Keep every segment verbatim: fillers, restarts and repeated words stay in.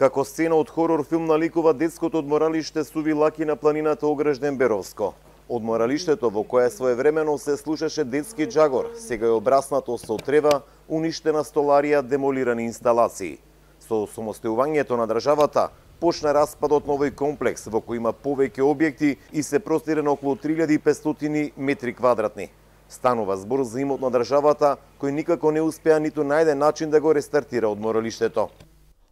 Како сцена од хорор филм наликува детското одморалиште Суви Лаки на планината Огражден Беровско. Одморалиштето во кое своевремено се слушаше детски джагор, сега е обраснато со трева, уништена столарија, демолирани инсталации. Со самостојувањето на државата почна распадот на овој комплекс во кој има повеќе објекти и се простира на околу три илјади и петстотини метри квадратни. Станува збор за имот на државата кој никако не успеа ниту најде начин да го рестартира одморалиштето.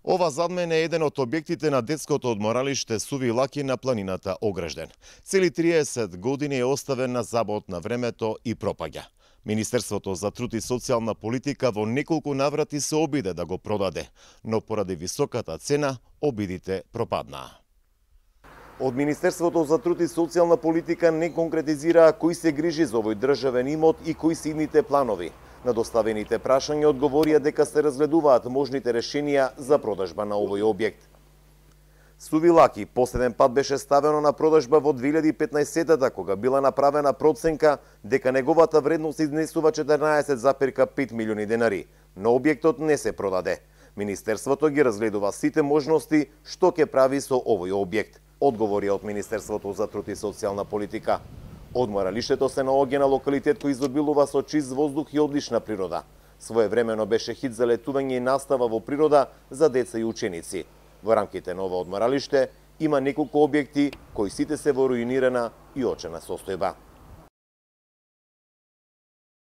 Ова зад мене е еден од објектите на детското одморалиште Суви Лаки на планината Огражден. Цели триесет години е оставен на забот на времето и пропаѓа. Министерството за труд и социјална политика во неколку наврати се обиде да го продаде, но поради високата цена обидите пропаднаа. Од Министерството за труд и социјална политика не конкретизираа кој се грижи за овој државен имот и кои се идните планови. На доставените прашања одговорија дека се разгледуваат можните решенија за продажба на овој објект. Суви Лаки последен пат беше ставено на продажба во две илјади и петнаесетата, кога била направена проценка дека неговата вредност изнесува четрнаесет запирка пет милиони денари, но објектот не се продаде. Министерството ги разгледува сите можности што ќе прави со овој објект, одговори од Министерството за труд и социјална политика. Одморалиштето се наоѓа на локалитет кој изобилува со чист воздух и одлична природа. Своевремено беше хит за летување и настава во природа за деца и ученици. Во рамките на ова одморалиште има неколку објекти кои сите се во руинирана и очена состојба.